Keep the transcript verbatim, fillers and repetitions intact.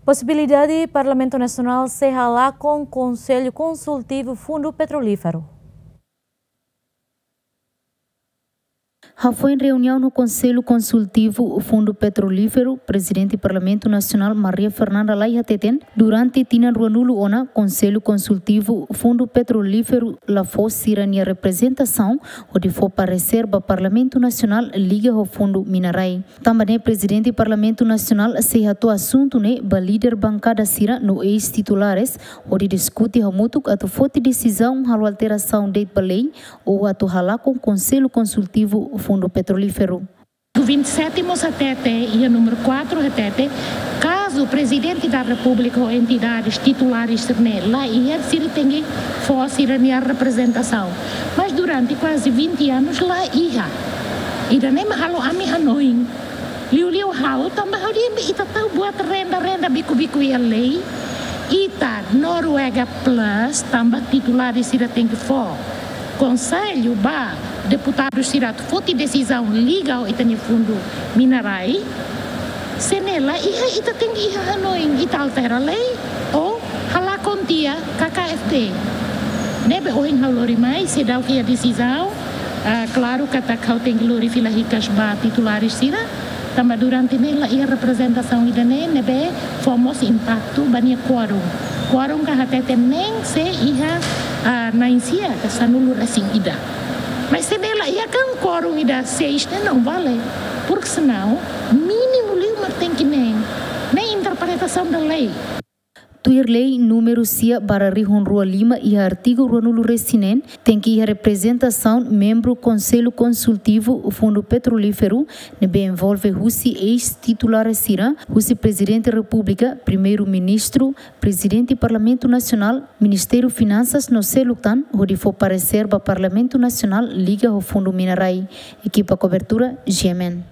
Posibilidade Parlamentu Nasionál sei halakon Konsellu Konsultivu Fundu Petrolíferu. Hafoin reuniaun no Konsellu Konsultivu Fundu Petrolíferu, Prezidente Parlamentu Nasionál Maria Fernanda Lay hateten, durante tinan ruanulu ona, Konsellu Konsultivu Fundu Petrolíferu la fó sira-nia reprezentasaun hodi fó paresér ba Parlamentu Nasionál liga ho fundu mina-rai. Tanba ne'e Prezidente Parlamentu Nasionál sei hato'o asuntu ne'e ba líder bankada sira no eis-titulares hodi diskute hamutuk atu foti desizaun halo alterasaun de'it ba lei ou atu halakon Konsellu Konsultivu Fundu Petrolíferu. Vinte e sete mós hatete, iha númeru quatro hatete, kazu Prezidente da Repúblika ou entidades titulares sira-ne'e la iha, sira tenke fó sira-nia reprezentasaun. Mas durante kuaze vinte anos la iha. Ida-ne'e mak halo ami hanoin. Liuliu ha'u tanba ha'u dehan ita tau buat renda-renda biku-biku iha lei. Ita Noruega Plus tanba titulares sira tenke fó konsellu ba deputadu sira atu foti desizaun liga ho ita-nia fundu mina-rai. Se ne'e la iha, ita tenke iha hanoin, ita altera lei ou halakon tiha K K F T. Ne'ebé ohin ha'u lori mai, seidauk iha desizaun, ah, klaru katak ha'u tenke lori fila hikas ba titulares sira, tanba durante ne'e la iha reprezentasaun ida-ne'e, ne'ebé fó mós impaktu ba nia kuorum. Kuorum ka hatete nein se iha, ah, na'in-sia ka sanulu-resin-ida. Mas se ne'e la iha kan kuorum ida seis ne'e não vale. Porque senão, mínimu liu mak tenke nein. Ne'e interpretasaun da lei. Tuir lei númeru sia barra rihun rua lima iha artigu ruanulu-resin-neen, tenke iha reprezentasaun membru Konsellu Konsultivu Fundu Petrolíferu, ne'ebé envolve husi eis-titulares sira, husi Prezidente Repúblika, Primeiru-Ministru, Prezidente Parlamentu Nasionál, Ministériu Finansas no seluk tan, hodi fó paresér ba Parlamentu Nasionál liga ho fundu mina-rai. Ekipa kobertura, G M N.